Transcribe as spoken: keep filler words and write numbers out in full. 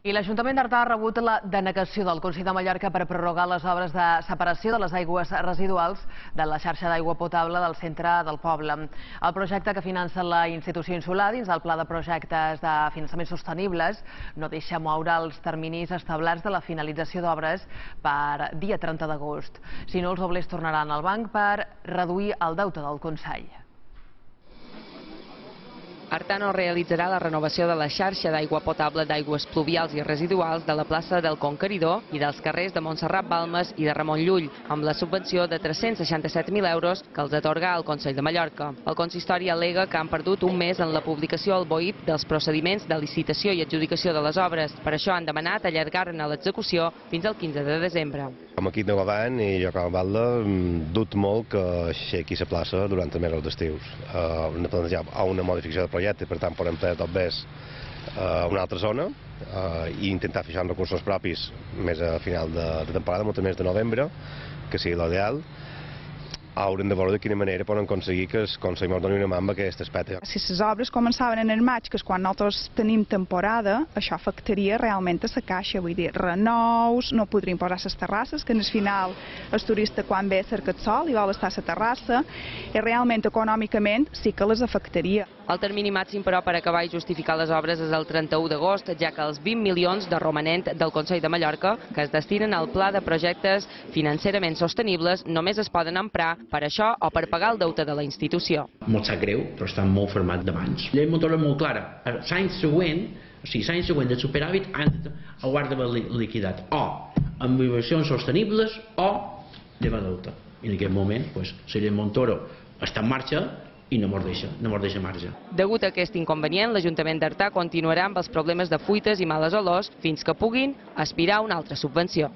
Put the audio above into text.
I l'Ajuntament d'Artà ha rebut la denegació del Consell de Mallorca per prorrogar les obres de separació de les aigües residuals de la xarxa d'aigua potable del centre del poble. El projecte que finança la institució insular dins del Pla de Projectes de Finançament Sostenibles no deixa moure els terminis establerts de la finalització d'obres per dia trenta d'agost. Si no, els doblers tornaran al banc per reduir el deute del Consell. Artà no realitzarà la renovació de la xarxa d'aigua potable d'aigües pluvials i residuals de la plaça del Conqueridor i dels carrers de Montserrat Balmes i de Ramon Llull, amb la subvenció de tres-cents seixanta-set mil euros que els atorga el Consell de Mallorca. El consistori al·lega que han perdut un mes en la publicació al B O I P dels procediments de licitació i adjudicació de les obres. Per això han demanat allargar-ne l'execució fins al quinze de desembre. Com a equip de govern i jo com a alcalde dubto molt que aixequi la plaça durant els mesos d'estius. Hem de plantejar una modificació del projecte, per tant podem fer tot més a una altra zona i intentar fixar uns recursos propis més a final de temporada, molt més de novembre, que sigui l'ideal. Haurem de veure de quina manera poden aconseguir que el Consell ens doni una mà amb aquest aspecte. Si les obres començaven en el maig, que és quan nosaltres tenim temporada, això afectaria realment a la caixa, vull dir, renous, no podrien posar les terrasses, que en el final el turista quan ve cerca el sol i vol estar a la terrassa, i realment econòmicament sí que les afectaria. El termini màxim, però, per acabar i justificar les obres és el trenta-u d'agost, ja que els vint milions de romanent del Consell de Mallorca, que es destinen al Pla de Projectes Financerament Sostenibles, només es poden emprar per això o per pagar el deute de la institució. Molt sap greu, però està molt format d'abans. La llei motora és molt clara. L'any següent, o sigui, l'any següent del superàvit, ho ha d'haver liquidat o amb inversions sostenibles o llevar deute. I en aquest moment, la llei Montoro està en marxa i no mos deixa, no mos deixa marge. Degut a aquest inconvenient, l'Ajuntament d'Artà continuarà amb els problemes de fuites i males olors fins que puguin aspirar a una altra subvenció.